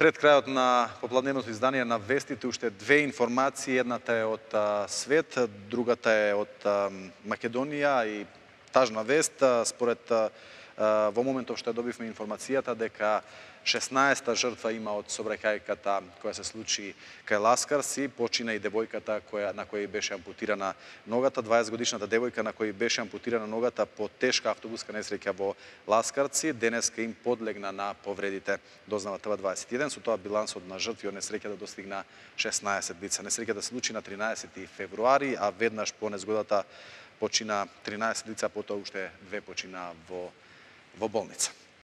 Пред крајот на попладневното издание на вестите уште две информации, едната е од свет, другата е од Македонија и тажна вест. Според во моментов што добивме информацијата дека 16-та жртва има од сообраќајката која се случи кај Ласкарци, почина и девојката на која беше ампутирана ногата, 20-годишната девојка на која беше ампутирана ногата по тешка автобуска несреќа во Ласкарци, денеска им подлегна на повредите, дознава ТВ21, со тоа билансот на жртви од несреќата достигна 16 лица. Несреќата се случи на 13 февруари, а веднаш по незгодата почина 13 лица, потоа уште две почина во болница.